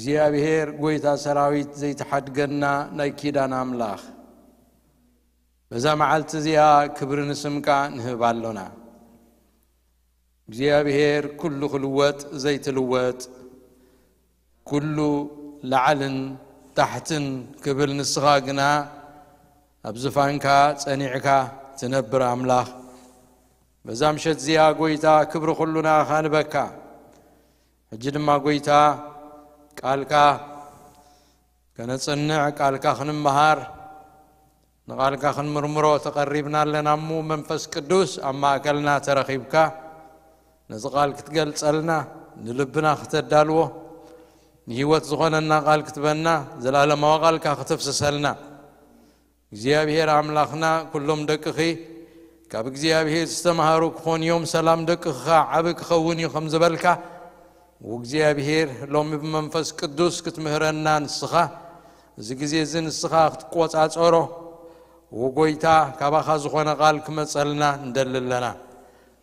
እግዚኣብሔር ጐይታ ሰራዊት ዘይትሓድገና ናይ ኪዳን ኣምላኽ፣ በዛ መዓልቲ እዚኣ ክብሪ ንስምካ ንህብ ኣሎና። እግዚኣብሔር ኩሉ ክልወጥ ዘይትልወጥ፣ ኩሉ ላዕልን ታሕትን ክብል ንስኻ ግና ኣብ ዝፋንካ ጸኒዕካ ትነብር ኣምላኽ፣ በዛ ምሸት እዚኣ ጐይታ ክብሪ ኩሉ ንኣኻ ንበካ። ሕጂ ድማ ጐይታ ቃልካ ከነጽንዕ፣ ቃልካ ክንመሃር፣ ንቓልካ ክንምርምሮ ተቐሪብና ኣለና እሞ መንፈስ ቅዱስ ኣብ ማእከልና ተረኺብካ ነዚ ቃል ክትገልጸልና፣ ንልብና ክተዳልዎ፣ ንህይወት ዝኾነና ቃል ክትበና፣ ዘላለማዊ ቃልካ ክተፍስሰልና። እግዚኣብሔር ኣምላኽና፣ ኩሎም ደቅኺ ካብ እግዚኣብሔር ዝተምሃሩ ክኾኑ እዮም፣ ሰላም ደቅኺ ዓቢ ክኸውን እዩ ከም ዝበልካ፣ እግዚኣብሔር ሎሚ ብመንፈስ ቅዱስ ክትምህረና ንስኻ፣ እዚ ግዜ እዚ ንስኻ ክትቆጻጸሮ፣ ወጎይታ ካባኻ ዝኾነ ቃል ክመጸልና ንደሊ ኣለና።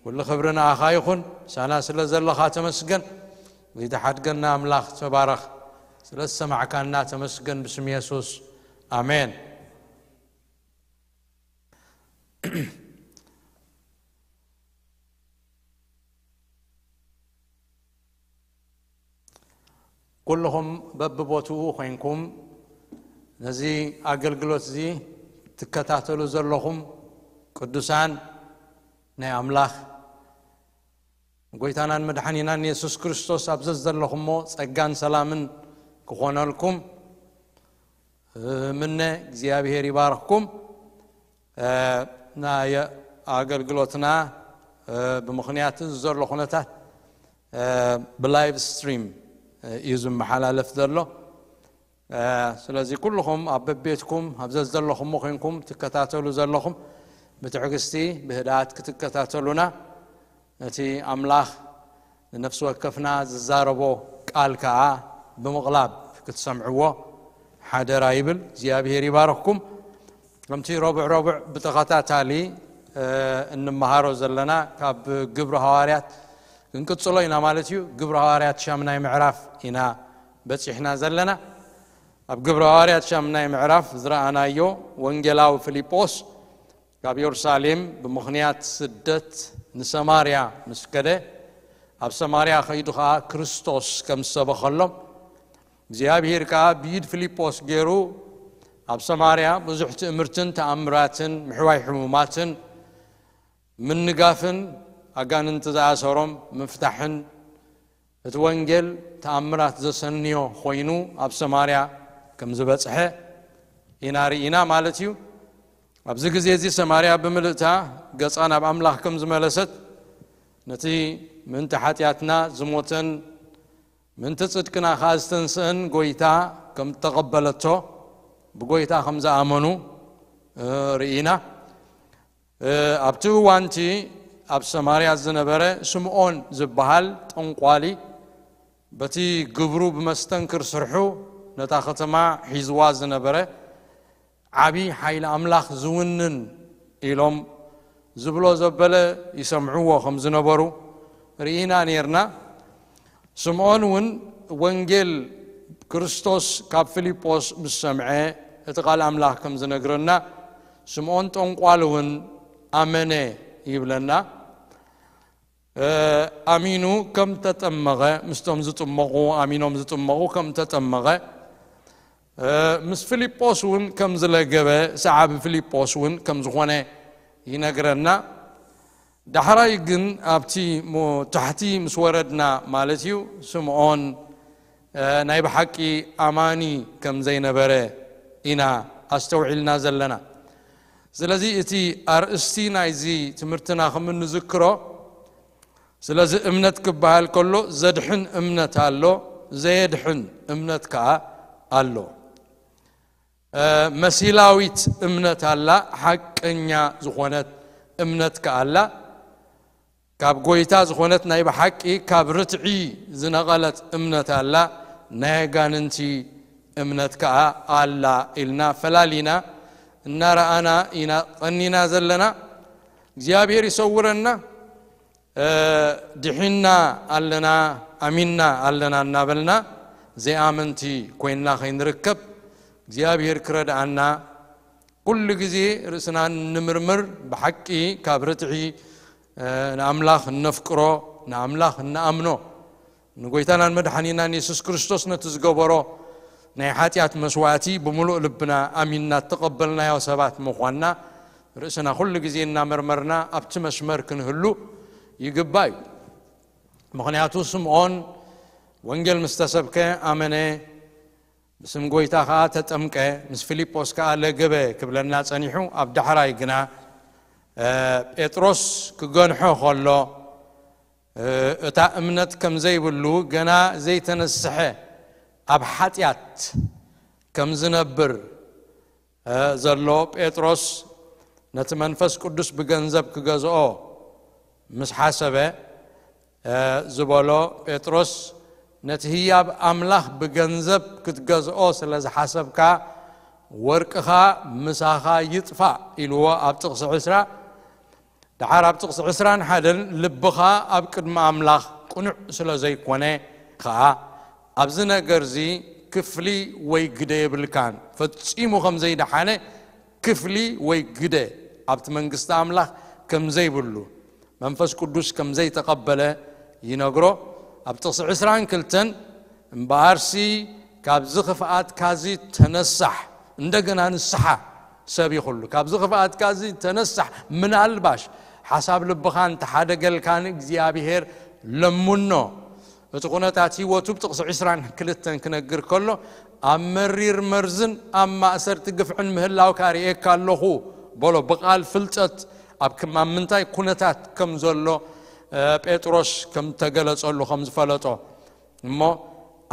ኩሉ ክብሪ ንኣኻ ይኹን። ሳና ስለ ዘለኻ ተመስገን። ዘይተሓድገና ኣምላኽ ተባረኽ። ስለ ዝሰማዕካና ተመስገን ብስም የሱስ። ኣሜን። ኩልኹም በብቦትኡ ኮይንኩም ነዚ ኣገልግሎት እዚ ትከታተሉ ዘለኹም ቅዱሳን ናይ ኣምላኽ ጎይታናን መድሓኒናን የሱስ ክርስቶስ ኣብ ዘዘለኹሞ ጸጋን ሰላምን ክኾነልኩም ምነ እግዚኣብሔር ይባርኽኩም። ናይ ኣገልግሎትና ብምኽንያት ዘሎ ኩነታት ብላይቭ ስትሪም እዩ ዝመሓላለፍ ዘሎ። ስለዚ ኩልኹም ኣብ በቤትኩም ኣብ ዘዘለኹሞ ኮይንኩም ትከታተሉ ዘለኹም ብትዕግስቲ ብህድኣት ክትከታተሉና ነቲ ኣምላኽ ንነፍሲ ወከፍና ዝዛረቦ ቃል ከኣ ብምቕላብ ክትሰምዕዎ ሓደራ ይብል። እግዚኣብሔር ይባርኽኩም። ከምቲ ረቡዕ ረቡዕ ብተኸታታሊ እንመሃሮ ዘለና ካብ ግብሪ ሃዋርያት ክንቅጽሎ ኢና ማለት እዩ። ግብሪ ሃዋርያት ሻምናይ ምዕራፍ ኢና በጺሕና ዘለና። ኣብ ግብሪ ሃዋርያት ሻምናይ ምዕራፍ ዝረኣናዮ ወንጌላዊ ፊልጶስ ካብ የሩሳሌም ብምኽንያት ስደት ንሰማርያ ምስ ከደ፣ ኣብ ሰማርያ ከይዱ ኸኣ ክርስቶስ ከም ዝሰበኸሎም፣ እግዚኣብሔር ከኣ ብኢድ ፊልጶስ ገይሩ ኣብ ሰማርያ ብዙሕ ትእምርትን ተኣምራትን ምሕዋይ ሕሙማትን ምንጋፍን ኣጋንንቲ ዝኣሰሮም ምፍታሕን እቲ ወንጌል ተኣምራት ዘሰንዮ ኮይኑ ኣብ ሰማርያ ከም ዝበጽሐ ኢና ርኢና ማለት እዩ። ኣብዚ ግዜ እዚ ሰማርያ ብምልእታ ገጻ ናብ ኣምላኽ ከም ዝመለሰት ነቲ ምእንቲ ሓጢኣትና ዝሞተን ምእንቲ ጽድቅና ኸኣ ዝተንስአን ጐይታ ከም እተቐበለቶ ብጐይታ ከም ዝኣመኑ ርኢና። ኣብቲ እዋንቲ ኣብ ሰማርያ ዝነበረ ስምዖን ዝበሃል ጠንቋሊ በቲ ግብሩ ብመስተንክር ስርሑ ነታ ከተማ ሒዝዋ ዝነበረ ዓቢ ሓይሊ ኣምላኽ ዝውንን ኢሎም ዝብሎ ዘበለ ይሰምዕዎ ከም ዝነበሩ ርኢና ኔርና። ስምዖን እውን ወንጌል ክርስቶስ ካብ ፊልጶስ ምስ ሰምዐ እቲ ቃል ኣምላኽ ከም ዝነግረና ስምዖን ጠንቋል እውን ኣመነ ይብለና። ኣሚኑ ከም ተጠመቐ ምስቶም ዝጥመቑ ኣሚኖም ዝጥመቑ ከም ተጠመቐ ምስ ፊልጶስ እውን ከም ዝለገበ ሰዓቢ ፊልጶስ እውን ከም ዝኾነ ይነግረና። ዳሕራይ ግን ኣብቲ ታሕቲ ምስ ወረድና ማለት እዩ ስምዖን ናይ ብሓቂ ኣማኒ ከም ዘይነበረ ኢና ኣስተውዒልና ዘለና። ስለዚ እቲ ኣርእስቲ ናይዚ ትምህርትና ከም እንዝክሮ ስለዚ እምነት ክበሃል ከሎ ዘድሕን እምነት ኣሎ፣ ዘየድሕን እምነት ከኣ ኣሎ። መሲላዊት እምነት ኣላ፣ ሓቀኛ ዝኾነት እምነት ከኣ ኣላ። ካብ ጎይታ ዝኾነት ናይ ብሓቂ ካብ ርትዒ ዝነቐለት እምነት ኣላ፣ ናይ ኣጋንንቲ እምነት ከኣ ኣላ ኢልና ፈላሊና እናረኣና ኢና ቀኒና ዘለና። እግዚኣብሔር ይሰውረና። ድሒና ኣለና፣ ኣሚንና ኣለና እናበልና ዘይኣመንቲ ኮይንና ከይንርከብ እግዚኣብሔር ክረድኣና፣ ኩሉ ግዜ ርእስና ንምርምር፣ ብሓቂ ካብ ርትዒ ንኣምላኽ እነፍቅሮ፣ ንኣምላኽ እንኣምኖ፣ ንጎይታናን መድሓኒናን የሱስ ክርስቶስ ነቲ ዝገበሮ ናይ ሓጢኣት መስዋእቲ ብምሉእ ልብና ኣሚንና እተቐበልናዮ ሰባት ምዃንና ርእስና ኩሉ ግዜ እናመርመርና ኣብቲ መስመር ክንህሉ ይግባእ እዩ። ምኽንያቱ ስምዖን ወንጌል ምስ ተሰብከ ኣመነ፣ ብስም ጎይታ ከኣ ተጠምቀ፣ ምስ ፊልጶስ ከኣ ለገበ ክብለና ጸኒሑ፣ ኣብ ዳሕራይ ግና ጴጥሮስ ክገንሖ ከሎ እታ እምነት ከም ዘይብሉ፣ ገና ዘይተነስሐ ኣብ ሓጢኣት ከም ዝነብር ዘሎ ጴጥሮስ ነቲ መንፈስ ቅዱስ ብገንዘብ ክገዝኦ ምስ ሓሰበ ዝበሎ ጴጥሮስ፣ ነቲ ህያብ ኣምላኽ ብገንዘብ ክትገዝኦ ስለ ዝሓሰብካ፣ ወርቅኻ ምሳኻ ይጥፋእ ኢልዎ ኣብ ጥቕሲ ዕስራ። ደሓር ኣብ ጥቕሲ ዕስራን ሓደን፣ ልብኻ ኣብ ቅድሚ ኣምላኽ ቅኑዕ ስለ ዘይኮነ ከኣ ኣብዚ ነገርዚ ክፍሊ ወይ ግደ የብልካን። ፈጺሙ ከም ዘይደሓነ ክፍሊ ወይ ግደ ኣብቲ መንግስቲ ኣምላኽ ከም ዘይብሉ፣ መንፈስ ቅዱስ ከም ዘይተቐበለ ይነግሮ። ኣብ ጥቕሲ ዕስራን ክልተን፣ እምበኣርሲ ካብዚ ክፍኣትካዚ ተነሳሕ፣ እንደገና ንስሓ ሰብ ይኹሉ፣ ካብዚ ክፍኣትካዚ ተነሳሕ፣ ምናልባሽ ሓሳብ ልብኻ እንተሓደገልካ ንእግዚኣብሔር ለምኖ። እቲ ኩነታት ህይወቱ ብጥቕሲ ዕስራን ክልተን ክነግር ከሎ፣ ኣብ መሪር መርዝን ኣብ ማእሰርቲ ግፍዕን ምህላውካ ርእየካ ኣለኹ በሎ። ብቓል ፍልጠት ኣብ ክም-፣ ኣብ ምንታይ ኩነታት ከም ዘሎ፣ እ፣ ጴጥሮስ ከም ተገለጸሉ ከም ዝፈለጦ። እሞ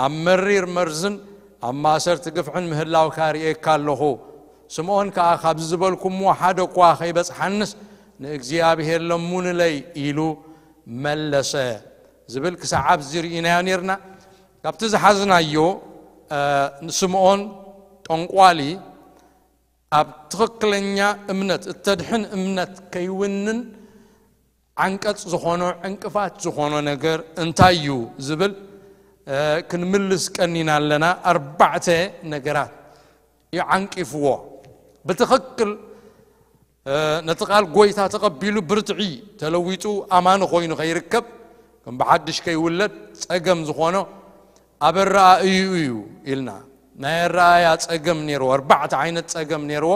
ኣብ መሪር መርዝን ኣብ ማእሰርቲ ግፍዕን ምህላውካ ርእየካ ኣለኹ። ስምዖን ከኣ፣ ካብዚ ዝበልኩምዎ ሓደ እኳ ከይበጽሓንስ ንእግዚኣብሔር ለሙንለይ ኢሉ መለሰ ዝብል ክሳዕ ኣብዚ ርኢናዮ ኔርና። ካብቲ ዝሓዝናዮ፣ እ፣ ንስምዖን ጠንቋሊ ኣብ ትኽክለኛ እምነት፣ እተድሕን እምነት ከይውንን ዓንቀጽ ዝኾኖ፣ ዕንቅፋት ዝኾኖ ነገር እንታይ እዩ ዝብል፣ እ፣ ክንምልስ ቀኒና ኣለና። ኣርባዕተ ነገራት እዩ ዓንቂፍዎ። ብትኽክል፣ እ፣ ነቲ ቃል ጎይታ ተቐቢሉ ብርትዒ ተለዊጡ ኣማኒ ኮይኑ ከይርከብ፣ ከም ብሓድሽ ከይውለድ ጸገም ዝኾኖ ኣብ ኣረኣእይኡ እዩ ኢልና። ናይ ኣረኣእያ ጸገም ነይርዎ፣ ኣርባዕተ ዓይነት ጸገም ነይርዎ።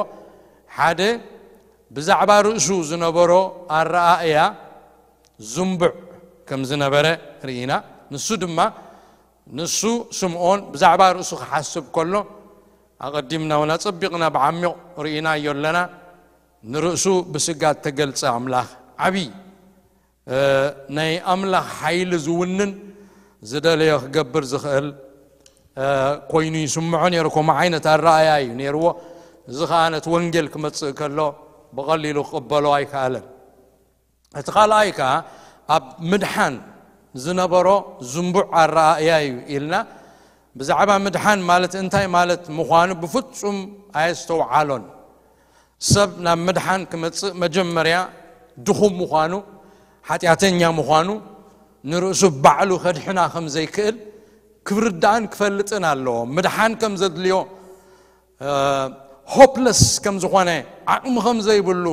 ሓደ፣ ብዛዕባ ርእሱ ዝነበሮ ኣረኣእያ ዝንቡዕ ከም ዝነበረ ርኢና። ንሱ ድማ፣ ንሱ ስምዖን ብዛዕባ ርእሱ ክሓስብ ከሎ፣ ኣቐዲምና እውን ኣጸቢቕና ብዓሚቕ ርኢናዮ ኣለና። ንርእሱ ብስጋ እተገልጸ ኣምላኽ ዓብዪ፣ እ፣ ናይ ኣምላኽ ሓይሊ ዝውንን፣ ዝደለዮ ክገብር ዝኽእል፣ እ፣ ኮይኑ ይስምዖ ነይሩ። ከምኡ ዓይነት ኣረኣእያ እዩ ነይርዎ። እዚ ኸኣ ነቲ ወንጌል ክመጽእ ከሎ ብቐሊሉ ክቕበሎ ኣይከኣለን። እቲ ካልኣይ ከኣ ኣብ ምድሓን ዝነበሮ ዝንቡዕ ኣረኣእያ እዩ ኢልና። ብዛዕባ ምድሓን ማለት እንታይ ማለት ምዃኑ ብፍጹም ኣየስተውዓሎን። ሰብ ናብ ምድሓን ክመጽእ መጀመርያ ድኹም ምዃኑ፣ ሓጢኣተኛ ምዃኑ፣ ንርእሱ ባዕሉ ከድሕና ከም ዘይክእል ክርዳእን ክፈልጥን ኣለዎ። ምድሓን ከም ዘድልዮ፣ እ፣ ሆፕለስ ከም ዝኾነ፣ ዓቕሚ ከም ዘይብሉ፣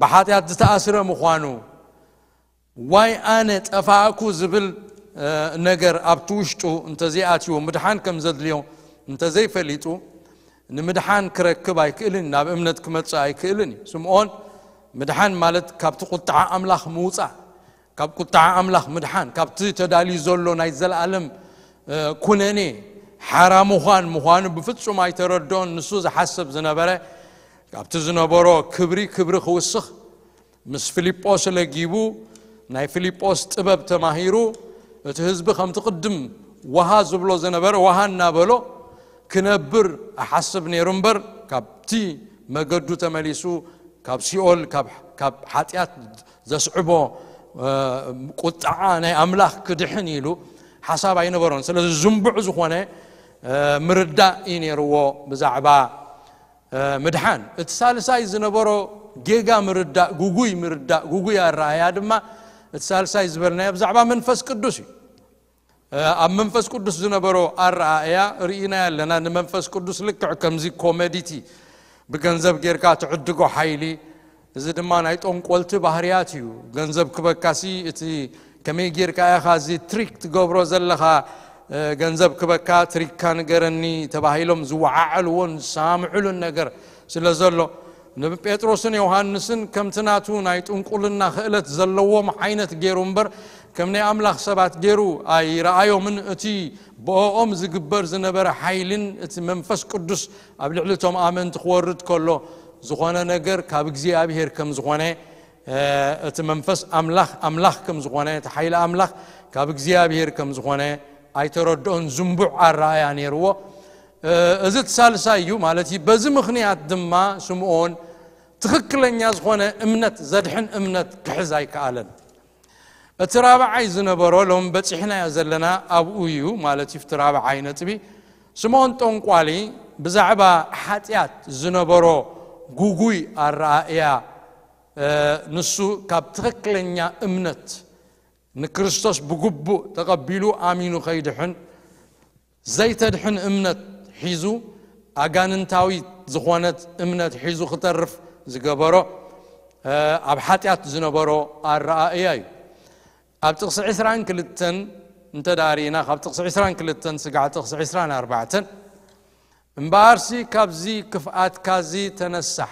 ብሓጢኣት ዝተኣስረ ምዃኑ፣ ዋይ ኣነ ጠፋእኩ ዝብል፣ እ፣ ነገር ኣብቲ ውሽጡ እንተዘይኣትይዎ፣ ምድሓን ከም ዘድልዮ እንተዘይፈሊጡ፣ ንምድሓን ክረክብ ኣይክእልን፣ ናብ እምነት ክመጽእ ኣይክእልን እዩ። ስምዖን፣ ምድሓን ማለት ካብቲ ቁጥዓ ኣምላኽ ምውጻእ፣ ካብ ቁጥዓ ኣምላኽ ምድሓን፣ ካብቲ ተዳልዩ ዘሎ ናይ ዘለኣለም፣ እ፣ ኩነኔ ሓራ ምዃን ምዃኑ ብፍጹም ኣይተረድኦን። ንሱ ዝሓስብ ዝነበረ፣ ካብቲ ዝነበሮ ክብሪ ክብሪ ክውስኽ፣ ምስ ፊልጶስ ለጊቡ፣ ናይ ፊልጶስ ጥበብ ተማሂሩ፣ እቲ ህዝቢ ከምቲ ቅድም ወሃ ዝብሎ ዝነበረ ወሃ እናበሎ ክነብር እሓስብ ነይሩ እምበር፣ ካብቲ መገዱ ተመሊሱ፣ ካብ ሲኦል፣ ካብ፣ ካብ ሓጢኣት ዘስዕቦ፣ እ፣ ቁጥዓ ናይ ኣምላኽ ክድሕን ኢሉ ሓሳብ ኣይነበሮን። ስለዚ ዝንቡዕ ዝኾነ፣ እ፣ ምርዳእ እዩ ነይርዎ ብዛዕባ፣ እ፣ ምድሓን። እቲ ሳልሳይ ዝነበሮ ጌጋ ምርዳእ፣ ጉጉይ ምርዳእ፣ ጉጉይ ኣረኣእያ ድማ፣ እቲ ሳልሳይ ዝበልናዮ ብዛዕባ መንፈስ ቅዱስ እዩ። ኣብ መንፈስ ቅዱስ ዝነበሮ ኣረኣእያ ርኢና ኣለና። ንመንፈስ ቅዱስ ልክዕ ከምዚ ኮመዲቲ ብገንዘብ ጌርካ ትዕድጎ ሓይሊ፣ እዚ ድማ ናይ ጠንቆልቲ ባህርያት እዩ። ገንዘብ ክበካሲ እቲ ከመይ ጌርካ ኢኻ እዚ ትሪክ ትገብሮ ዘለኻ፣ ገንዘብ ክበካ ትሪክካ ንገረኒ ተባሂሎም ዝወዓዓልዎን ዝሰማምዕሉን ነገር ስለ ዘሎ፣ ንጴጥሮስን ዮሃንስን ከምቲ ናቱ ናይ ጥንቁልና ክእለት ዘለዎም ዓይነት ገይሩ እምበር፣ ከም ናይ ኣምላኽ ሰባት ገይሩ ኣይረኣዮምን። እቲ ብኦም ዝግበር ዝነበረ ሓይልን እቲ መንፈስ ቅዱስ ኣብ ልዕሊ እቶም ኣመንቲ ክወርድ ከሎ ዝኾነ ነገር ካብ እግዚኣብሔር ከም ዝኾነ፣ እቲ መንፈስ ኣምላኽ ኣምላኽ ከም ዝኾነ፣ እቲ ሓይሊ ኣምላኽ ካብ እግዚኣብሔር ከም ዝኾነ ኣይተረድኦን። ዝንቡዕ ኣረኣእያ ነይርዎ። እዚ እቲ ሳልሳይ እዩ ማለት እዩ። በዚ ምኽንያት ድማ ስምዖን ትኽክለኛ ዝኾነ እምነት፣ ዘድሕን እምነት ክሕዝ ኣይከኣለን። እቲ ራብዓይ ዝነበሮ፣ ሎም በጺሕናዮ ዘለና ኣብኡ እዩ ማለት እዩ። እቲ ራብዓይ ነጥቢ፣ ስምዖን ጠንቋሊ ብዛዕባ ሓጢኣት ዝነበሮ ጉጉይ ኣረኣእያ፣ ንሱ ካብ ትኽክለኛ እምነት፣ ንክርስቶስ ብግቡእ ተቐቢሉ ኣሚኑ ከይድሕን ዘይተድሕን እምነት ሒዙ፣ ኣጋንንታዊት ዝኾነት እምነት ሒዙ ክተርፍ ዝገበሮ፣ ኣብ ሓጢኣት ዝነበሮ ኣረኣእያ እዩ። ኣብ ጥቕሲ ዕስራን ክልተን እንተ ደኣ ርኢና፣ ካብ ጥቕሲ ዕስራን ክልተን ስጋዕ ጥቕሲ ዕስራን ኣርባዕተን፣ እምበኣርሲ ካብዚ ክፍኣትካዚ ተነሳሕ፣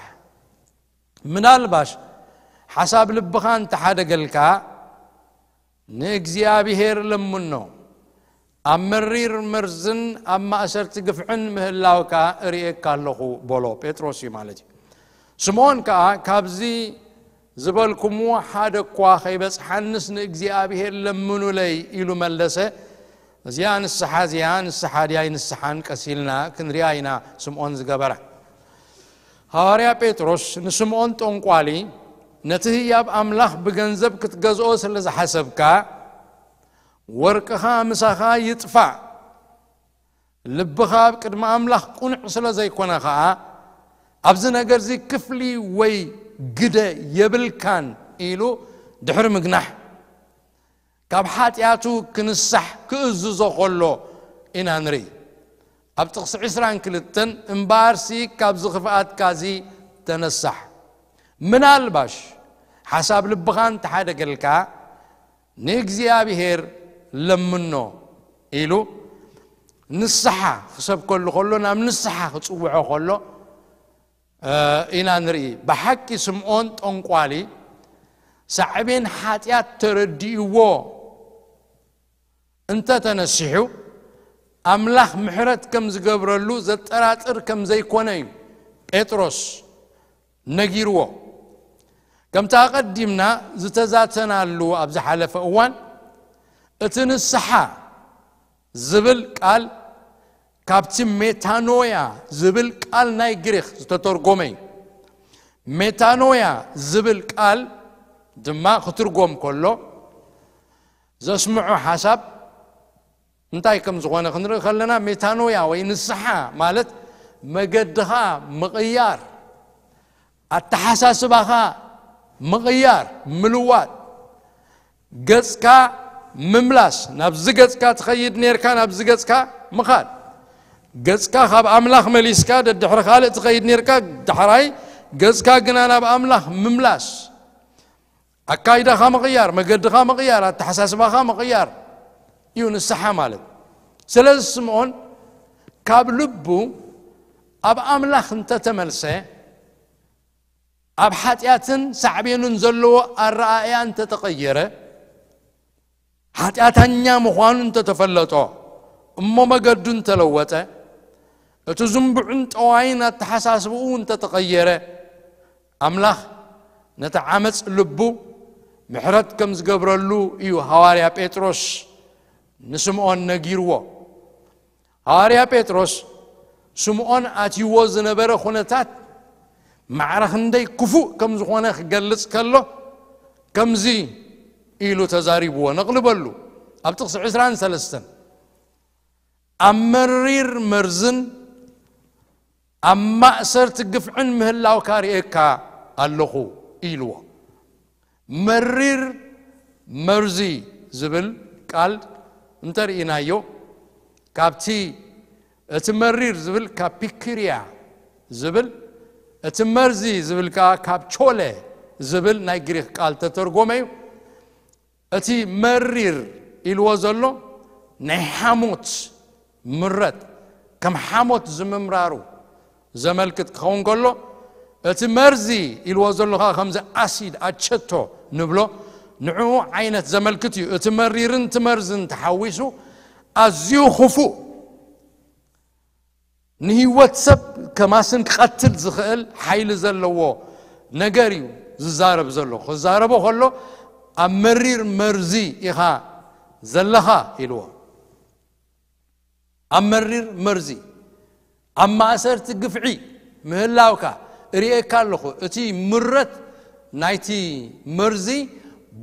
ምናልባሽ ሓሳብ ልብኻ እንተሓደገልካ፣ ንእግዚኣብሔር ለምኖ። ኣብ መሪር መርዝን ኣብ ማእሰርቲ ግፍዕን ምህላውካ እርእየካ ኣለኹ፣ በሎ። ጴጥሮስ እዩ ማለት እዩ። ስምዖን ከኣ፣ ካብዚ ዝበልኩምዎ ሓደ እኳ ከይበጽሓንስ ንእግዚኣብሔር ለምኑለይ፣ ኢሉ መለሰ። እዚኣ ንስሓ፣ እዚኣ ንስሓ ድያ ኣይንስሓን ቀስ ኢልና ክንሪኣ ኢና ስምዖን ዝገበራ። ሃዋርያ ጴጥሮስ ንስምዖን ጠንቋሊ፣ ነቲ ህያብ ኣምላኽ ብገንዘብ ክትገዝኦ ስለ ዝሓሰብካ፣ ወርቅኻ ምሳኻ ይጥፋእ፣ ልብኻ ኣብ ቅድሚ ኣምላኽ ቅኑዕ ስለ ዘይኮነ ኸኣ፣ ኣብዚ ነገርዚ ክፍሊ ወይ ግደ የብልካን፣ ኢሉ ድሕሪ ምግናሕ፣ ካብ ሓጢኣቱ ክንሳሕ ክእዝዞ ከሎ ኢና ንርኢ። ኣብ ጥቕሲ ዕስራን ክልተን፣ እምበኣርሲ ካብዚ ክፍኣትካዚ ተነሳሕ፣ ምናልባሽ ሓሳብ ልብኻ እንተሓደገልካ፣ ንእግዚኣብሔር ለምኖ፣ ኢሉ ንስሓ ክሰብከሉ ከሎ፣ ናብ ንስሓ ክጽውዖ ከሎ፣ እ፣ ኢና ንርኢ። ብሓቂ ስምዖን ጠንቋሊ ሳዕቤን ሓጢኣት ተረዲእዎ እንተ ተነሲሑ፣ ኣምላኽ ምሕረት ከም ዝገብረሉ ዘጠራጥር ከም ዘይኮነ እዩ ጴጥሮስ ነጊርዎ። ከምቲ ኣቐዲምና ዝተዛተናሉ ኣብ ዝሓለፈ እዋን፣ እቲ ንስሓ ዝብል ቃል ካብቲ ሜታኖያ ዝብል ቃል ናይ ግሪኽ ዝተተርጎመ እዩ። ሜታኖያ ዝብል ቃል ድማ ክትርጎም ከሎ ዘስምዖ ሓሳብ እንታይ ከም ዝኾነ ክንርኢ ከለና፣ ሜታኖያ ወይ ንስሓ ማለት መገድኻ ምቕያር፣ ኣተሓሳስባኻ ምቕያር፣ ምልዋጥ፣ ገጽካ ምምላስ፣ ናብዚ ገጽካ ትኸይድ ኔርካ ናብዚ ገጽካ ምኻድ፣ ገጽካ ካብ ኣምላኽ መሊስካ ደድሕሪ ካልእ ትኸይድ ኔርካ፣ ዳሕራይ ገጽካ ግና ናብ ኣምላኽ ምምላስ፣ ኣካይዳኻ ምቕያር፣ መገድኻ ምቕያር፣ ኣተሓሳስባኻ ምቕያር እዩ ንስሓ ማለት። ስለዚ ስምዖን ካብ ልቡ ኣብ ኣምላኽ እንተተመልሰ፣ ኣብ ሓጢኣትን ሳዕቤኑን ዘለዎ ኣረኣእያ እንተተቐየረ፣ ሓጢኣተኛ ምዃኑ እንተተፈለጦ፣ እሞ መገዱ እንተለወጠ፣ እቲ ዝንቡዕን ጠዋይን ኣተሓሳስብኡ እንተተቐየረ፣ ኣምላኽ ነቲ ዓመጽ ልቡ ምሕረት ከም ዝገብረሉ እዩ ሃዋርያ ጴጥሮስ ንስምዖን ነጊርዎ። ሃዋርያ ጴጥሮስ ስምዖን ኣትይዎ ዝነበረ ኩነታት ማዕረ ክንደይ ክፉእ ከም ዝኾነ ክገልጽ ከሎ፣ ከምዚ ኢሉ ተዛሪብዎ። ነቕልበሉ። ኣብ ጥቕሲ ዕስራን ሰለስተን፣ ኣብ መሪር መርዝን ኣብ ማእሰርቲ ግፍዕን ምህላውካ ርእየካ ኣለኹ፣ ኢልዎ። መሪር መርዚ ዝብል ቃል እንተርኢናዮ፣ ካብቲ እቲ መሪር ዝብል ካብ ፒክርያ ዝብል፣ እቲ መርዚ ዝብል ከዓ ካብ ቾለ ዝብል ናይ ግሪኽ ቃል ተተርጎመ እዩ። እቲ መሪር ኢልዎ ዘሎ ናይ ሓሞት ምረት፣ ከም ሓሞት ዝምምራሩ ዘመልክት ክኸውን ከሎ፣ እቲ መርዚ ኢልዎ ዘሎ ከዓ ከምዚ ኣሲድ ኣቸቶ ንብሎ፣ ንዕኡ ዓይነት ዘመልክት እዩ። እቲ መሪርን እቲ መርዝን ተሓዊሱ ኣዝዩ ክፉእ፣ ንህይወት ሰብ ከማስን ክቐትል ዝኽእል ሓይሊ ዘለዎ ነገር እዩ ዝዛረብ ዘሎ። ክዛረቦ ከሎ፣ ኣብ መሪር መርዚ ኢኻ ዘለኻ ኢልዎ። ኣብ መሪር መርዚ፣ ኣብ ማእሰርቲ ግፍዒ ምህላውካ እርእየካ ኣለኹ። እቲ ምረት ናይቲ መርዚ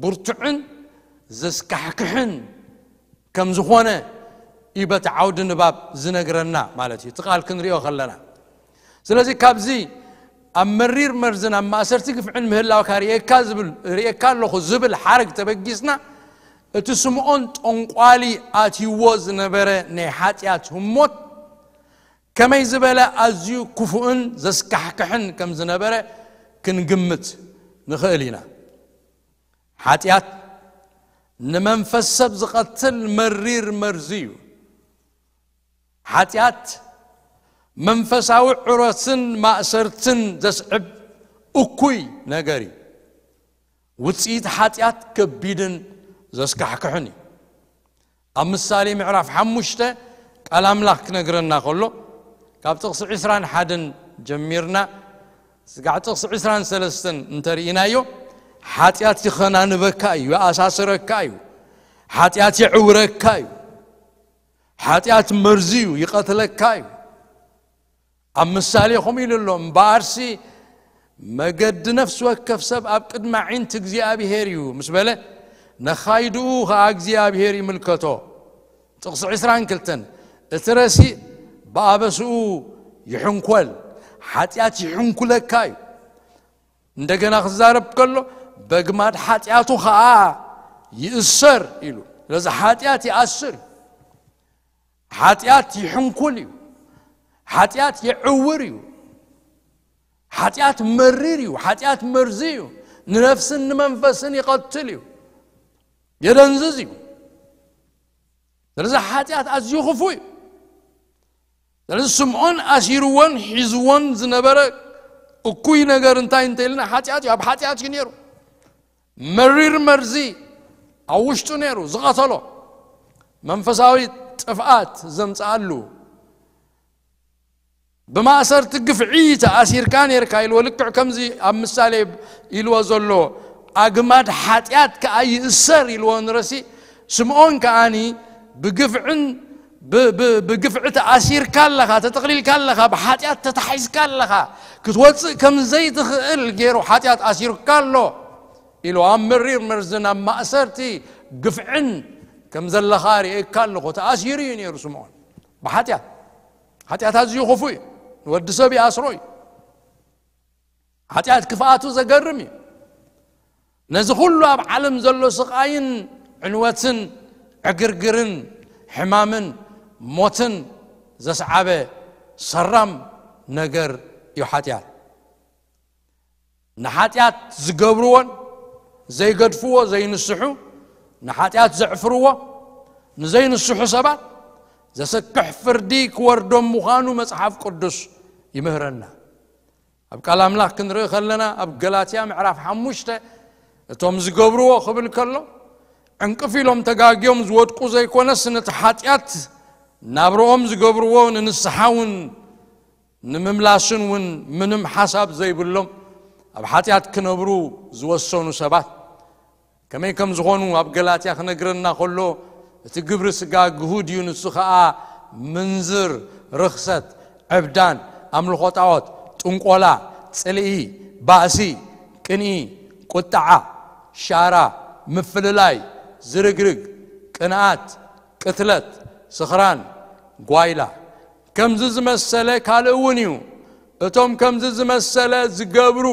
ብርቱዕን ዘስካሕክሕን ከም ዝኾነ እዩ በቲ ዓውዲ ንባብ ዝነግረና ማለት እዩ፣ እቲ ቃል ክንሪኦ ከለና። ስለዚ ካብዚ ኣብ መሪር መርዝን ኣብ ማእሰርቲ ግፍዕን ምህላውካ ርእየካ ዝብል፣ ርእየካ ኣለኹ ዝብል ሓረግ ተበጊስና፣ እቲ ስምዖን ጠንቋሊ ኣትይዎ ዝነበረ ናይ ሓጢኣት ህሞት ከመይ ዝበለ ኣዝዩ ክፉእን ዘስካሕክሕን ከም ዝነበረ ክንግምት ንኽእል ኢና። ሓጢኣት ንመንፈስ ሰብ ዝቐትል መሪር መርዚ እዩ። ሓጢኣት መንፈሳዊ ዕረትን ማእሰርትን ዘስዕብ እኩይ ነገር እዩ። ውጽኢት ሓጢኣት ከቢድን ዘስካሕክሕን እዩ። ኣብ ምሳሌ ምዕራፍ ሓሙሽተ ቃል ኣምላኽ ክነግረና ከሎ፣ ካብ ጥቕሲ ዕስራን ሓደን ጀሚርና ስጋዕ ጥቕሲ ዕስራን ሰለስተን እንተርኢናዮ፣ ሓጢኣት ይኸናንበካ እዩ፣ ይኣሳስረካ እዩ፣ ሓጢኣት የዕውረካ እዩ፣ ሓጢኣት መርዚ እዩ፣ ይቐትለካ እዩ። ኣብ ምሳሌ ከምኡ ኢሉ ኣሎ፣ እምበኣርሲ መገዲ ነፍሲ ወከፍ ሰብ ኣብ ቅድሚ ኣዒንቲ እግዚኣብሔር እዩ ምስ በለ፣ ነኻይድኡ ኸኣ እግዚኣብሔር ይምልከቶ። ጥቕሲ ዕስራን ክልተን፣ እቲ ረሲእ ብኣበስኡ ይሕንኮል፣ ሓጢኣት ይሕንኩለካ እዩ። እንደገና ክዛረብ ከሎ፣ በግማድ ሓጢኣቱ ኸኣ ይእሰር ኢሉ። ስለዚ ሓጢኣት ይኣስር እዩ። ሓጢኣት ይሕንኩል እዩ። ሓጢኣት የዕውር እዩ። ሓጢኣት መሪር እዩ። ሓጢኣት መርዚ እዩ። ንነፍስን ንመንፈስን ይቐትል እዩ። የደንዝዝ እዩ። ስለዚ ሓጢኣት ኣዝዩ ክፉእ እዩ። ስለዚ ስምዖን ኣሲርዎን ሒዝዎን ዝነበረ እኩይ ነገር እንታይ እንተ ኢልና፣ ሓጢኣት እዩ። ኣብ ሓጢኣት እዩ ነይሩ። መሪር መርዚ ኣብ ውሽጡ ነይሩ፣ ዝቐተሎ፣ መንፈሳዊ ጥፍኣት ዘምጽኣሉ። ብማእሰርቲ ግፍዒ ተኣሲርካ ነይርካ ኢልዎ፣ ልክዕ ከምዚ ኣብ ምሳሌ ኢልዎ ዘሎ፣ ኣግማድ ሓጢኣት ከኣ ይእሰር ኢልዎ ንረሲ። ስምዖን ከኣኒ ብግፍዕን ብ-፣ ብ-፣ ብግፍዒ ተኣሲርካ ኣለኻ፣ ተጠቕሊልካ ኣለኻ፣ ብሓጢኣት ተታሒዝካ ኣለኻ፣ ክትወጽእ ከም ዘይትኽእል ገይሩ ሓጢኣት ኣሲሩካ ኣሎ ኢሉ፣ ኣብ መሪር መርዝን ኣብ ማእሰርቲ ግፍዕን ከም ዘለኻ ርእየካ ኣለኹ። ተኣሲሩ እዩ ነይሩ ስምዖን ብሓጢኣት። ሓጢኣት ኣዝዩ ክፉእ እዩ። ንወዲ ሰብ ይኣስሮ እዩ። ሓጢኣት ክፍኣቱ ዘገርም እዩ። ነዚ ኩሉ ኣብ ዓለም ዘሎ ስቓይን ዕንወትን ዕግርግርን ሕማምን ሞትን ዘስዓበ ሰራም ነገር እዩ ሓጢኣት። ንሓጢኣት ዝገብርዎን ዘይገድፍዎ ዘይንስሑ፣ ንሓጢኣት ዘዕፍርዎ፣ ንዘይንስሑ ሰባት ዘሰክሕ ፍርዲ ክወርዶም ምዃኑ መጽሓፍ ቅዱስ ይምህረና። ኣብ ቃል ኣምላኽ ክንርኢ ከለና፣ ኣብ ገላትያ ምዕራፍ ሓሙሽተ፣ እቶም ዝገብርዎ ክብል ከሎ፣ ዕንቅፍ ኢሎም ተጋግዮም ዝወድቁ ዘይኮነስ፣ ነቲ ሓጢኣት ናብርኦም ዝገብርዎ ንንስሓ እውን ንምምላስን እውን ምንም ሓሳብ ዘይብሎም ኣብ ሓጢኣት ክነብሩ ዝወሰኑ ሰባት ከመይ ከም ዝኾኑ ኣብ ገላትያ ክነግረና ከሎ፣ እቲ ግብሪ ስጋ ግሁድ እዩ፣ ንሱ ኸኣ ምንዝር፣ ርኽሰት፣ ዕብዳን፣ ኣምልኾ ጣዖት፣ ጥንቆላ፣ ጽልኢ፣ ባእሲ፣ ቅንኢ፣ ቁጥዓ፣ ሻራ፣ ምፍልላይ፣ ዝርግርግ፣ ቅንኣት፣ ቅትለት፣ ስኽራን፣ ጓይላ። ከምዚ ዝመሰለ ካልእ እውን እዩ። እቶም ከምዚ ዝመሰለ ዝገብሩ፣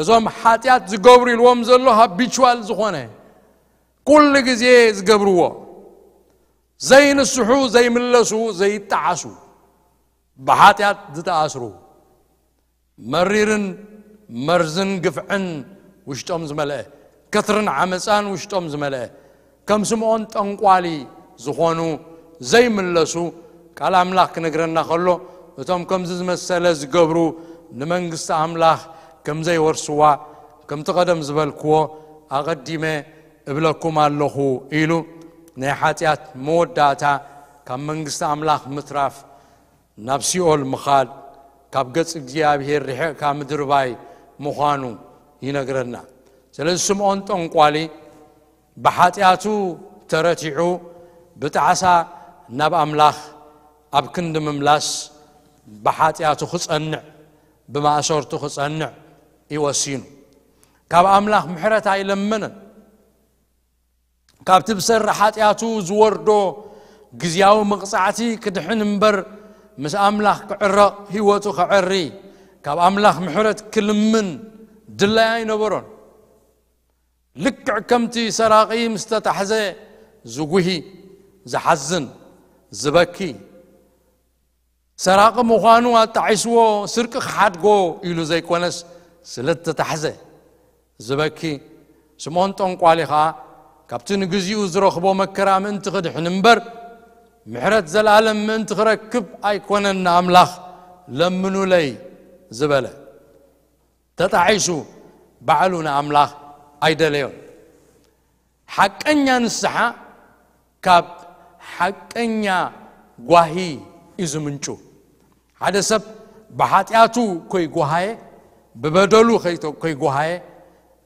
እዞም ሓጢኣት ዝገብሩ ኢልዎም ዘሎ ሃቢቹዋል ዝኾነ፣ ኩሉ ግዜ ዝገብርዎ፣ ዘይንስሑ፣ ዘይምለሱ፣ ዘይጠዓሱ፣ ብሓጢኣት ዝተኣስሩ፣ መሪርን መርዝን ግፍዕን ውሽጦም ዝመልአ፣ ከትርን ዓመፃን ውሽጦም ዝመልአ፣ ከም ስምዖን ጠንቋሊ ዝኾኑ ዘይምለሱ፣ ቃል ኣምላኽ ክነግረና ከሎ፣ እቶም ከምዚ ዝመሰለ ዝገብሩ ንመንግስቲ ኣምላኽ ከም ዘይወርስዋ፣ ከምቲ ቀደም ዝበልክዎ፣ ኣቐዲመ እብለኩም ኣለኹ ኢሉ፣ ናይ ሓጢኣት መወዳእታ ካብ መንግስቲ ኣምላኽ ምትራፍ፣ ናብ ሲኦል ምኻድ፣ ካብ ገጽ እግዚኣብሔር ርሒቕካ ምድርባይ ምዃኑ ይነግረና። ስለዚ ስምዖን ጠንቋሊ ብሓጢኣቱ ተረቲዑ፣ ብጣዕሳ ናብ ኣምላኽ ኣብ ክንዲ ምምላስ፣ ብሓጢኣቱ ክጸንዕ፣ ብማእሰርቱ ክጸንዕ እዩ ወሲኑ። ካብ ኣምላኽ ምሕረት ኣይለመነን። ካብቲ ብሰሪ ሓጢኣቱ ዝወርዶ ግዝያዊ መቕጻዕቲ ክድሕን እምበር፣ ምስ ኣምላኽ ክዕረቕ፣ ህይወቱ ከዐሪ፣ ካብ ኣምላኽ ምሕረት ክልምን ድላይ ኣይነበሮን። ልክዕ ከምቲ ሰራቒ ምስ ተታሕዘ ዝጉሂ፣ ዝሓዝን፣ ዝበኪ፣ ሰራቒ ምዃኑ ኣጣዒስዎ፣ ስርቂ ክሓድጎ ኢሉ ዘይኮነስ፣ ስለ እተታሕዘ ዝበኪ። ስምዖን ጠንቋሊ ኸኣ፣ ካብቲ ንግዚኡ ዝረኽቦ መከራ ምእንቲ ክድሕን እምበር፣ ምሕረት ዘለኣለም ምእንቲ ክረክብ ኣይኮነን ንኣምላኽ ለምኑለይ ዝበለ። ተጣዒሱ ባዕሉ ንኣምላኽ ኣይደለዮን። ሓቀኛ ንስሓ ካብ ሓቀኛ ጓሂ እዩ ዝምንጩ። ሓደ ሰብ ብሓጢኣቱ ከይጓሃየ፣ ብበደሉ ከይተ-፣ ከይጓሃየ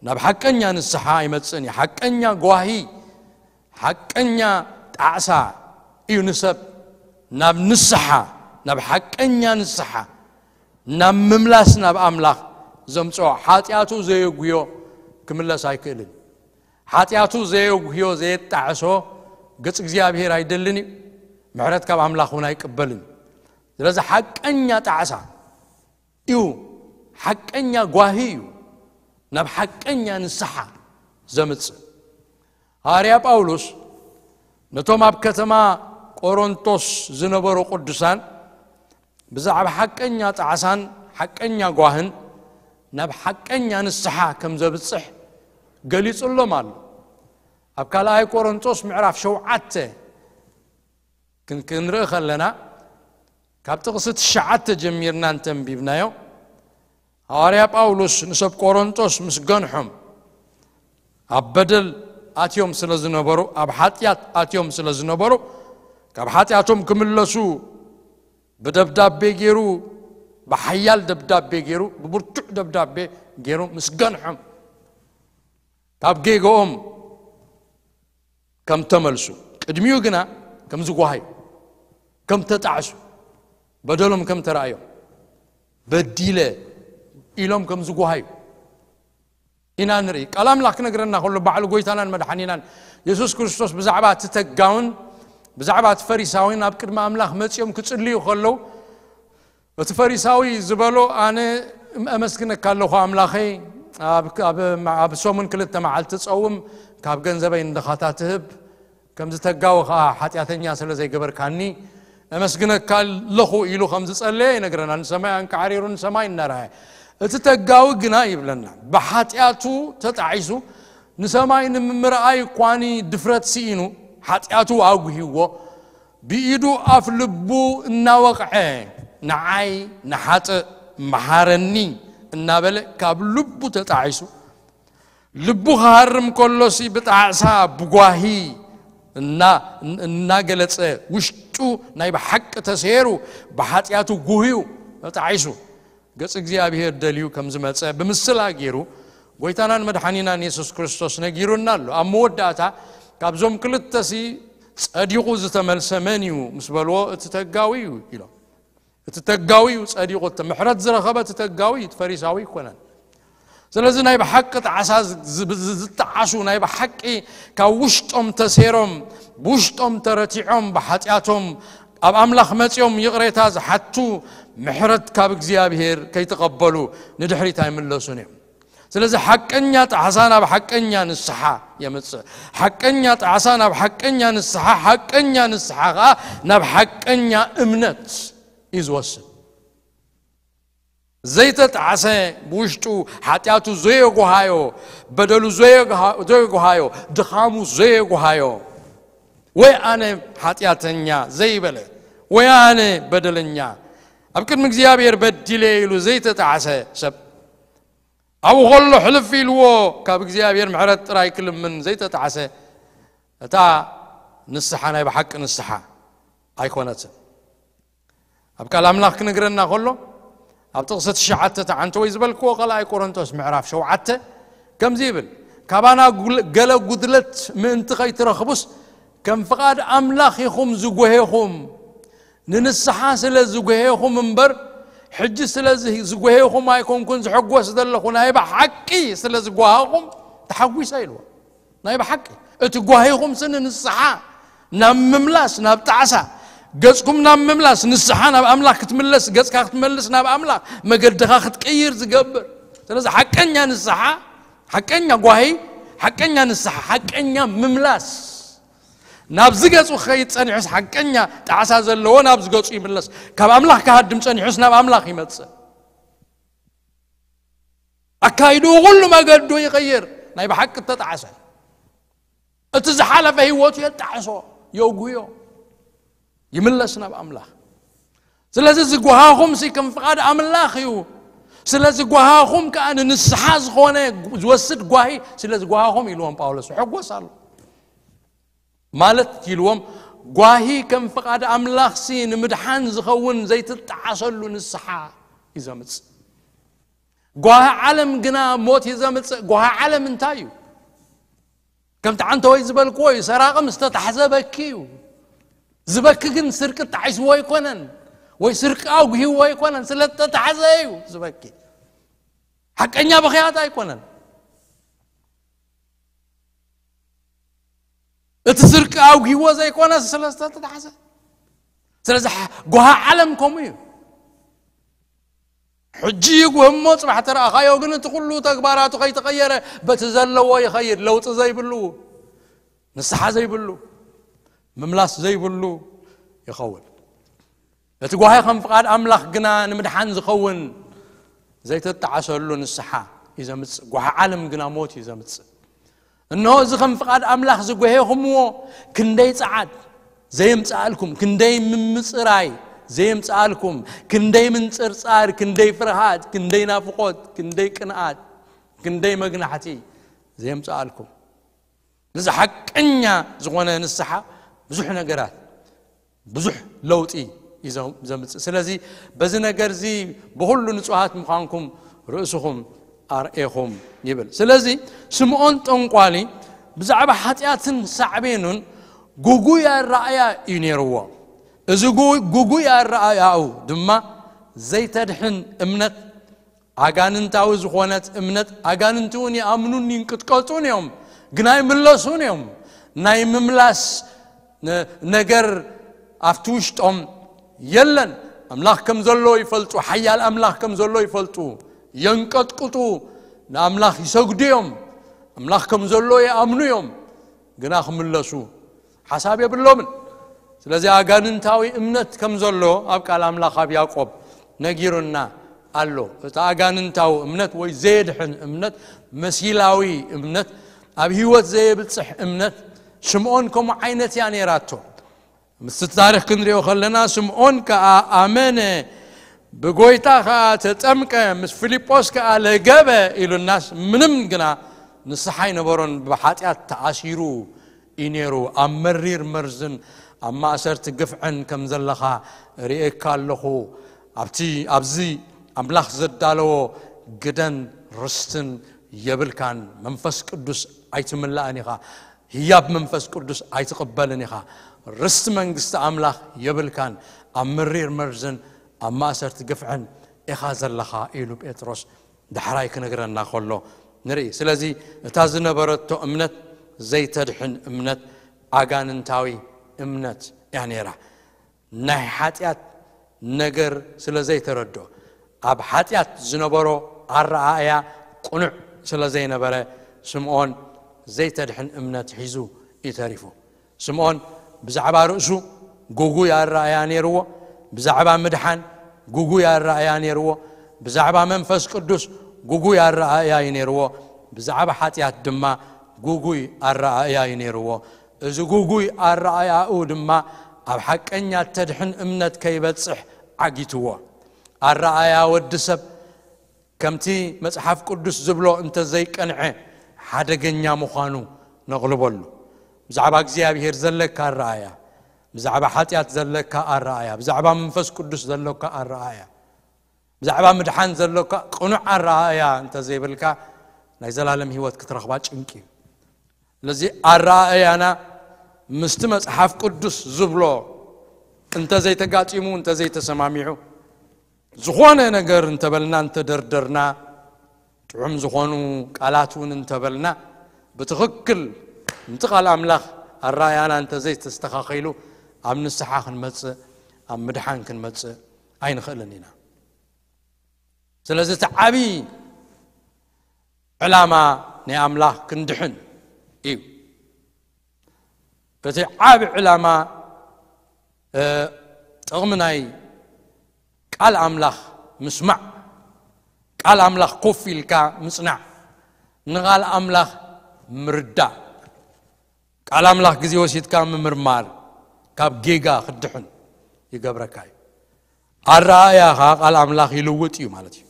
ናብ ሓቀኛ ንስሓ ኣይመጽእን እዩ። ሓቀኛ ጓሂ፣ ሓቀኛ ጣዕሳ እዩ ንሰብ ናብ ንስሓ፣ ናብ ሓቀኛ ንስሓ፣ ናብ ምምላስ ናብ ኣምላኽ ዘምጽኦ። ሓጢኣቱ ዘየጉዮ ክምለስ ኣይክእልን። ሓጢኣቱ ዘየጉህዮ፣ ዘየጣዕሶ ገጽ እግዚኣብሔር ኣይደልን እዩ። ምሕረት ካብ ኣምላኽ እውን ኣይቅበልን እዩ። ስለዚ ሓቀኛ ጣዕሳ እዩ፣ ሓቀኛ ጓሂ እዩ፣ ናብ ሓቀኛ ንስሓ ዘምጽእ። ሃዋርያ ጳውሎስ ነቶም ኣብ ከተማ ቆሮንቶስ ዝነበሩ ቅዱሳን ብዛዕባ ሓቀኛ ጣዕሳን ሓቀኛ ጓህን ናብ ሓቀኛ ንስሓ ከም ዘብጽሕ ገሊጹሎም ኣሎ። ኣብ ካልኣይ ቆሮንቶስ ምዕራፍ ሸውዓተ ክን-፣ ክንርኢ ከለና፣ ካብ ጥቕሲ ትሽዓተ ጀሚርና እንተንቢብናዮ፣ ሃዋርያ ጳውሎስ ንሰብ ቆሮንቶስ ምስ ገንሖም፣ ኣብ በደል ኣትዮም ስለ ዝነበሩ፣ ኣብ ሓጢኣት ኣትዮም ስለ ዝነበሩ፣ ካብ ሓጢኣቶም ክምለሱ ብደብዳቤ ገይሩ፣ ብሓያል ደብዳቤ ገይሩ፣ ብብርቱዕ ደብዳቤ ገይሩ ምስ ገንሖም፣ ካብ ጌግኦም ከም ተመልሱ፣ ቅድሚኡ ግና ከም ዝጓሃዩ፣ ከም ተጣዕሱ፣ በደሎም ከም ተራእዮም፣ በዲለ ኢሎም ከም ዝጓሃዩ ኢና ንርኢ። ቃል ኣምላኽ ክነግረና ከሎ፣ ባዕሉ ጎይታናን መድሓኒናን የሱስ ክርስቶስ ብዛዕባ እቲ ተጋውን ብዛዕባ እቲ ፈሪሳዊን ኣብ ቅድሚ ኣምላኽ መጺኦም ክጽልዩ ከለዉ፣ እቲ ፈሪሳዊ ዝበሎ፣ ኣነ ኣመስግነካ ኣለኹ ኣምላኸይ፣ ኣብ፣ ኣብ፣ ኣብ ሰሙን ክልተ መዓልቲ ጸውም፣ ካብ ገንዘበይ ንድኻታ ትህብ፣ ከምዚ ተጋዊ ኸኣ ሓጢኣተኛ ስለ ዘይገበርካኒ፣ ኣመስግነካ ኣለኹ ኢሉ ከም ዝጸለየ ይነግረና። ንሰማይ ኣንቃዕሪሩ ንሰማይ እናረኣየ። እቲ ተጋዊ ግና ይብለና፣ ብሓጢኣቱ ተጣዒሱ፣ ንሰማይ ንምምርኣይ እኳኒ ድፍረት ስኢኑ፣ ሓጢኣቱ ኣጉህይዎ፣ ብኢዱ ኣፍ ልቡ እናወቕዐ፣ ንዓይ ንሓጥእ መሓረኒ እናበለ ካብ ልቡ ተጣዒሱ፣ ልቡ ክሃርም ከሎሲ ብጣዕሳ ብጓሂ እና-፣ እናገለጸ፣ ውሽጡ ናይ ብሓቂ ተሰይሩ፣ ብሓጢኣቱ ጉህዩ ተጣዒሱ፣ ገጽ እግዚኣብሔር ደልዩ ከም ዝመጸ ብምስላ ገይሩ ጎይታናን መድሓኒናን የሱስ ክርስቶስ ነጊሩና ኣሎ። ኣብ መወዳእታ ካብዞም ክልተሲ ጸዲቑ ዝተመልሰ መን እዩ ምስ በልዎ፣ እቲ ተጋዊ እዩ ኢሎም። እቲ ተጋዊ እዩ ጸዲቑ፣ እቲ ምሕረት ዝረኸበ እቲ ተጋዊ እዩ፣ እቲ ፈሪሳዊ ኣይኮነን። ስለዚ ናይ ብሓቂ ጣዕሳ ዝ-፣ ዝ-፣ ዝ-፣ ዝጠዓሱ፣ ናይ ብሓቂ ካብ ውሽጦም ተሴሮም፣ ብውሽጦም ተረቲዖም፣ ብሓጢኣቶም ኣብ ኣምላኽ መጺኦም ይቕሬታ ዝሓቱ፣ ምሕረት ካብ እግዚኣብሔር ከይተቐበሉ ንድሕሪት ኣይምለሱን እዮም። ስለዚ ሓቀኛ ጣዕሳ ናብ ሓቀኛ ንስሓ የምጽእ። ሓቀኛ ጣዕሳ ናብ ሓቀኛ ንስሓ፣ ሓቀኛ ንስሓ ኸኣ ናብ ሓቀኛ እምነት እዩ ዝወስድ። ዘይተጣዕሰ፣ ብውሽጡ ሓጢኣቱ ዘየጓሃዮ፣ በደሉ ዘየጓሃ-፣ ዘየጓሃዮ፣ ድኻሙ ዘየጓሃዮ፣ ወይ ኣነ ሓጢኣተኛ ዘይበለ፣ ወይ ኣነ በደለኛ፣ ኣብ ቅድሚ እግዚኣብሔር በዲለ ኢሉ ዘይተጣዕሰ ሰብ፣ ኣብኡ ከሎ ሕልፍ ኢልዎ ካብ እግዚኣብሔር ምሕረት ጥራይ ክልምን ዘይተጣዕሰ፣ እታ ንስሓ ናይ ብሓቂ ንስሓ ኣይኮነትን። ኣብ ቃል ኣምላኽ ክነግረና ከሎ፣ ኣብ ጥቕሲ ትሽዓተ ተዓንተ ወይ ዝበልክዎ ካልኣይ ቆሮንቶስ ምዕራፍ ሸውዓተ ከምዚ ይብል፣ "ካባና ጉል-፣ ገለ ጉድለት ምእንቲ ኸይትረኽቡስ፣ ከም ፍቓድ ኣምላኽ ኢኹም ዝጎሄኹም፣ ንንስሓ ስለ ዝጎሄኹም እምበር፣ ሕጂ ስለ ዝ-፣ ዝጎሄኹም ኣይኮንኩን ዝሕጎስ ዘለኹ፣ ናይ ብሓቂ ስለ ዝጓሃኹም ተሓጒሰ" ኢልዎ። ናይ ብሓቂ እቲ ጓሂኹምሲ ንንስሓ፣ ናብ ምምላስ፣ ናብ ጣዕሳ፣ ገጽኩም ናብ ምምላስ፣ ንስሓ ናብ ኣምላኽ ክትምለስ፣ ገጽካ ክትመልስ ናብ ኣምላኽ፣ መገድኻ ክትቅይር ዝገብር። ስለዚ ሓቀኛ ንስሓ፣ ሓቀኛ ጓሂ፣ ሓቀኛ ንስሓ፣ ሓቀኛ ምምላስ፣ ናብዚ ገጹ ክኸይድ ጸኒሑስ ሓቀኛ ጣዕሳ ዘለዎ ናብዚ ገጹ ይምለስ። ካብ ኣምላኽ ክሃድም ጸኒሑስ ናብ ኣምላኽ ይመጽእ። ኣካይድኡ ኩሉ መገዱ ይቕይር። ናይ ብሓቂ እተጣዕሰ፣ እቲ ዝሓለፈ ህይወቱ የጣዕሶ፣ የጉዮ፣ ይምለስ ናብ ኣምላኽ። ስለዚ ዝጓሃኹምሲ ከም ፍቓድ ኣምላኽ እዩ። ስለ ዝጓሃኹም ከኣ ንንስሓ ዝኾነ ዝወስድ ጓሂ ስለ ዝጓሃኹም ኢልዎም ጳውሎስ ይሕጎስ ኣሎ። ማለት ኢልዎም፣ ጓሂ ከም ፍቓድ ኣምላኽሲ ንምድሓን ዝኸውን ዘይትጣዓሰሉ ንስሓ እዩ ዘምጽእ። ጓሂ ዓለም ግና ሞት እዩ ዘምጽእ። ጓሂ ዓለም እንታይ እዩ? ከምቲ ዓንተወይ ዝበልክዎ እዩ፣ ሰራቒ ምስ ተታሕዘ በኪ እዩ። ዝበኪ ግን ስርቂ ጣዒስዎ ኣይኮነን፣ ወይ ስርቂ ኣጉሂዎ ኣይኮነን፣ ስለ ዝተታሕዘ እዩ ዝበኪ። ሓቀኛ ብኽያት ኣይኮነን። እቲ ስርቂ ኣጉሂዎ ዘይኮነ ስለ ዝተታሕዘ። ስለዚ ሓ-፣ ጓሂ ዓለም ከምኡ እዩ። ሕጂ ይጉህሞ ጽባሕ ተረኣኻዮ፣ ግን እቲ ኩሉ ተግባራቱ ከይተቐየረ በቲ ዘለዎ ይኸይድ፣ ለውጢ ዘይብሉ፣ ንስሓ ዘይብሉ፣ ምምላስ ዘይብሉ ይኸውን። እቲ ጓሂ ከም ፍቓድ ኣምላኽ ግና ንምድሓን ዝኸውን ዘይተጣዓሰሉ ንስሓ እዩ ዘምጽእ። ጓሂ ዓለም ግና ሞት እዩ ዘምጽእ። እንሆ፣ እዚ ከም ፍቓድ ኣምላኽ ዝጓሄኹምዎ ክንደይ ጸዓት ዘየምጽኣልኩም፣ ክንደይ ምምጽራይ ዘየምጽኣልኩም፣ ክንደይ ምንጽርጻር፣ ክንደይ ፍርሃት፣ ክንደይ ናፍቖት፣ ክንደይ ቅንኣት፣ ክንደይ መግናሕቲ ዘየምጽኣልኩም። እዚ ሓቀኛ ዝኾነ ንስሓ ብዙሕ ነገራት፣ ብዙሕ ለውጢ እዩ ዘ-፣ ዘምጽእ። ስለዚ በዚ ነገር እዚ ብኹሉ ንጹሃት ምዃንኩም ርእስኹም ኣርእኹም ይብል። ስለዚ ስምዖን ጠንቋሊ ብዛዕባ ሓጢኣትን ሳዕቤኑን ጉጉይ ኣረኣእያ እዩ ነይርዎ። እዚ ጉ-፣ ጉጉይ ኣረኣእያኡ ድማ ዘይተድሕን እምነት፣ ኣጋንንታዊ ዝኾነት እምነት፣ ኣጋንንቲ እውን ይኣምኑን ይንቅጥቀጡን እዮም፣ ግና ኣይምለሱን እዮም። ናይ ምምላስ ነ-፣ ነገር ኣብቲ ውሽጦም የለን። ኣምላኽ ከም ዘሎ ይፈልጡ፣ ሓያል ኣምላኽ ከም ዘሎ ይፈልጡ፣ የንቀጥቅጡ፣ ንኣምላኽ ይሰግዱ እዮም፣ ኣምላኽ ከም ዘሎ ይኣምኑ እዮም፣ ግና ክምለሱ ሓሳብ የብሎምን። ስለዚ ኣጋንንታዊ እምነት ከም ዘሎ ኣብ ቃል ኣምላኽ ኣብ ያዕቆብ ነጊሩና ኣሎ። እቲ ኣጋንንታዊ እምነት ወይ ዘየድሕን እምነት፣ መሲላዊ እምነት፣ ኣብ ህይወት ዘየብጽሕ እምነት፣ ስምዖን ከምኡ ዓይነት እያ ነይራቶ። ምስቲ ታሪኽ ክንሪኦ ከለና፣ ስምዖን ከኣ ኣመነ፣ ብጎይታ ከኣ ተጠምቀ፣ ምስ ፊልጶስ ከኣ ለገበ ኢሉናስ፣ ምንም ግና ንስሓ ኣይነበሮን፣ ብሓጢኣት ተኣሲሩ እዩ ነይሩ። ኣብ መሪር መርዝን ኣብ ማእሰርቲ ግፍዕን ከም ዘለኻ ርእየካ ኣለኹ። ኣብቲ፣ ኣብዚ ኣምላኽ ዘዳለዎ ግደን ርስትን የብልካን። መንፈስ ቅዱስ ኣይትምላእን ኢኻ። ህያብ መንፈስ ቅዱስ ኣይትቕበልን ኢኻ። ርስቲ መንግስቲ ኣምላኽ የብልካን። ኣብ መሪር መርዝን ኣብ ማእሰርቲ ግፍዕን ኢኻ ዘለኻ ኢሉ ጴጥሮስ ዳሕራይ ክነግረና ከሎ ንርኢ። ስለዚ እታ ዝነበረቶ እምነት ዘይተድሕን እምነት፣ ኣጋንንታዊ እምነት እያ ነይራ። ናይ ሓጢኣት ነገር ስለ ዘይተረድኦ፣ ኣብ ሓጢኣት ዝነበሮ ኣረኣእያ ቅኑዕ ስለ ዘይነበረ፣ ስምዖን ዘይተድሕን እምነት ሒዙ እዩ ተሪፉ። ስምዖን ብዛዕባ ርእሱ ጉጉይ ኣረኣእያ ነይርዎ። ብዛዕባ ምድሓን ጉጉይ ኣረኣእያ ነይርዎ። ብዛዕባ መንፈስ ቅዱስ ጉጉይ ኣረኣእያ እዩ ነይርዎ። ብዛዕባ ሓጢኣት ድማ ጉጉይ ኣረኣእያ እዩ ነይርዎ። እዚ ጉጉይ ኣረኣእያኡ ድማ ኣብ ሓቀኛ ተድሕን እምነት ከይበጽሕ ዓጊትዎ። ኣረኣእያ ወዲ ሰብ ከምቲ መጽሓፍ ቅዱስ ዝብሎ እንተ ዘይቀንዐ ሓደገኛ ምዃኑ ነቕልበሉ። ብዛዕባ እግዚኣብሔር ዘለካ ኣረኣእያ፣ ብዛዕባ ሓጢኣት ዘለካ ኣረኣእያ፣ ብዛዕባ መንፈስ ቅዱስ ዘለካ ኣረኣእያ፣ ብዛዕባ ምድሓን ዘለካ ቅኑዕ ኣረኣእያ እንተ ዘይብልካ ናይ ዘላለም ህይወት ክትረኽባ ጭንቂ እዩ። ስለዚ ኣረኣእያና ምስቲ መጽሓፍ ቅዱስ ዝብሎ እንተ ዘይተጋጢሙ፣ እንተ ዘይተሰማሚዑ፣ ዝኾነ ነገር እንተበልና፣ እንተደርደርና፣ ጥዑም ዝኾኑ ቃላት እውን እንተበልና፣ ብትኽክል ምቲ ቃል ኣምላኽ ኣረኣእያና እንተ ዘይተስተኻኺሉ፣ ኣብ ንስሓ ክንመጽእ፣ ኣብ ምድሓን ክንመጽእ ኣይንኽእልን ኢና። ስለዚ እቲ ዓብዪ ዕላማ ናይ ኣምላኽ ክንድሕን እዩ። እቲ ዓቢ ዕላማ፣ እ፣ ጥቕሚ ናይ ቃል ኣምላኽ ምስማዕ፣ ቃል ኣምላኽ ኮፍ ኢልካ ምጽናዕ፣ ንቓል ኣምላኽ ምርዳእ፣ ቃል ኣምላኽ ግዜ ወሲድካ ምምርማር፣ ካብ ጌጋ ክድሕን ይገብረካ እዩ። ኣረኣእያኻ ቃል ኣምላኽ ይልውጥ እዩ ማለት እዩ።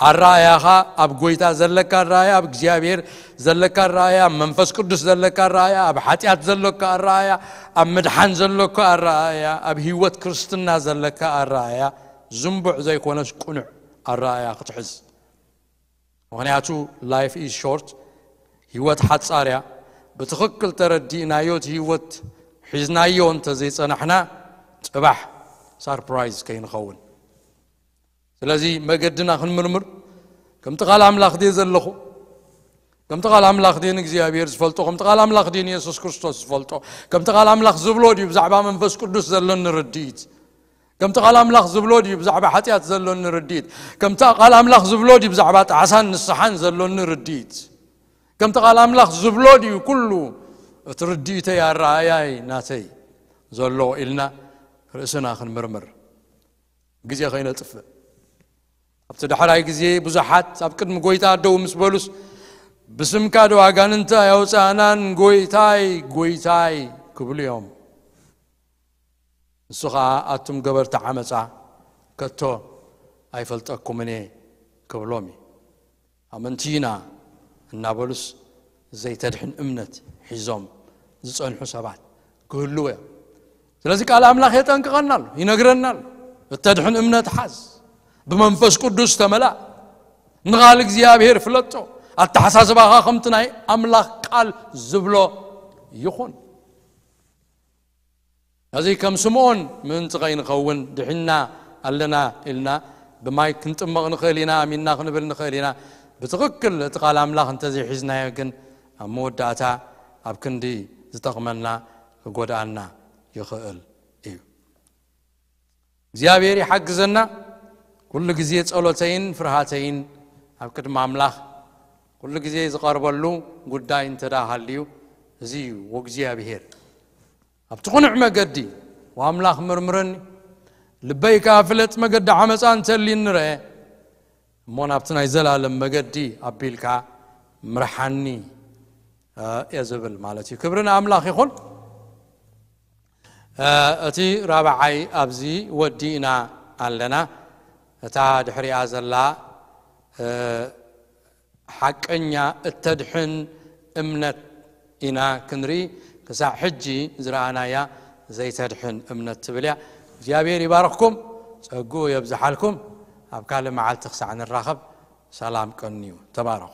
ኣረኣእያኻ ኣብ ጎይታ ዘለካ ኣረኣእያ፣ ኣብ እግዚኣብሔር ዘለካ ኣረኣእያ፣ ኣብ መንፈስ ቅዱስ ዘለካ ኣረኣእያ፣ ኣብ ሓጢኣት ዘለካ ኣረኣእያ፣ ኣብ ምድሓን ዘለካ ኣረኣእያ፣ ኣብ ህይወት ክርስትና ዘለካ ኣረኣእያ ዝንቡዕ ዘይኮነስ ቅኑዕ ኣረኣእያ ክትሕዝ። ምኽንያቱ life is short፣ ህይወት ሓጻር እያ። ብትኽክል ተረዲእናዮ እቲ ህይወት ሒዝናዮ እንተ ዘይጸናሕና፣ ጽባሕ ሳርፕራይዝ ከይንኸውን። ስለዚ መገድና ክንምርምር፣ ከምቲ ቃል ኣምላኽ ድየ ዘለኹ? ከምቲ ቃል ኣምላኽ ድየ ንእግዚኣብሔር ዝፈልጦ? ከምቲ ቃል ኣምላኽ ድየ ንየሱስ ክርስቶስ ዝፈልጦ? ከምቲ ቃል ኣምላኽ ዝብሎ ድዩ ብዛዕባ መንፈስ ቅዱስ ዘሎኒ ርድኢት? ከምቲ ቃል ኣምላኽ ዝብሎ ድዩ ብዛዕባ ሓጢኣት ዘሎኒ ርድኢት? ከምቲ ቃል ኣምላኽ ዝብሎ ድዩ ብዛዕባ ጣዕሳን ንስሓን ዘሎኒ ርድኢት? ከምቲ ቃል ኣምላኽ ዝብሎ ድዩ ኩሉ እቲ ርድኢተይ ኣረኣእያይ ናተይ ዘሎ ኢልና ርእስና ክንምርምር ግዜ ከይነጥፍእ። ኣብቲ ዳሕራይ ግዜ ብዙሓት ኣብ ቅድሚ ጎይታ ደው ምስ በሉስ፣ "ብስምካ ዶ ኣጋንንቲ ኣየውጻእናን፣ ጎይታይ፣ ጎይታይ?" ክብሉ እዮም። ንሱ ኸኣ፣ "ኣቱም ገበርቲ ዓመጻ፣ ከቶ ኣይፈልጠኩምን እየ" ክብሎም እዩ። ኣመንቲ ኢና እናበሉስ ዘይተድሕን እምነት ሒዞም ዝጸንሑ ሰባት ክህልዉ እዮም። ስለዚ ቃል ኣምላኽ የጠንቅቐና ኣሎ፣ ይነግረና ኣሎ። እተድሕን እምነት ሓዝ፣ ብመንፈስ ቅዱስ ተመላእ፣ ንቓል እግዚኣብሔር ፍለጦ፣ ኣተሓሳስባኻ ከምቲ ናይ ኣምላኽ ቃል ዝብሎ ይኹን። እዚ ከም ስምዖን ምእንቲ ከይንኸውን ድሒንና ኣለና ኢልና ብማይ ክንጥመቕ ንኽእል ኢና፣ ኣሚንና ክንብል ንኽእል ኢና። ብትኽክል እቲ ቃል ኣምላኽ እንተዘይሒዝናዮ ግን ኣብ መወዳእታ ኣብ ክንዲ ዝጠቕመና ክጎድኣና ይኽእል እዩ። እግዚኣብሔር ይሓግዘና። ኩሉ ግዜ ጸሎተይን ፍርሃተይን ኣብ ቅድሚ ኣምላኽ ኩሉ ግዜ ዝቐርበሉ ጉዳይ እንተ ደኣ ሃልዩ እዚ እዩ፣ ወእግዚኣብሔር ኣብቲ ቕኑዕ መገዲ ወኣምላኽ ምርምረኒ፣ ልበይ ከኣ ፍለጥ፣ መገዲ ዓመጻ እንተልዩኒ ርአ፣ እሞ ናብቲ ናይ ዘላለም መገዲ ኣቢልካ ምርሓኒ፣ እ፣ እየ ዝብል ማለት እዩ። ክብሪ ንኣምላኽ ይኹን። እ፣ እቲ ራብዓይ ኣብዚ ወዲእና ኣለና። እታ ድሕሪኣ ዘላ፣ እ፣ ሓቀኛ እተድሕን እምነት ኢና ክንርኢ። ክሳዕ ሕጂ ዝረኣናያ ዘይተድሕን እምነት ትብል እያ። እግዚኣብሔር ይባርኽኩም፣ ጸግኡ የብዝሓልኩም። ኣብ ካልእ መዓልቲ ክሳዕ ንራኸብ ሰላም ቀንዩ። ተባረኹ።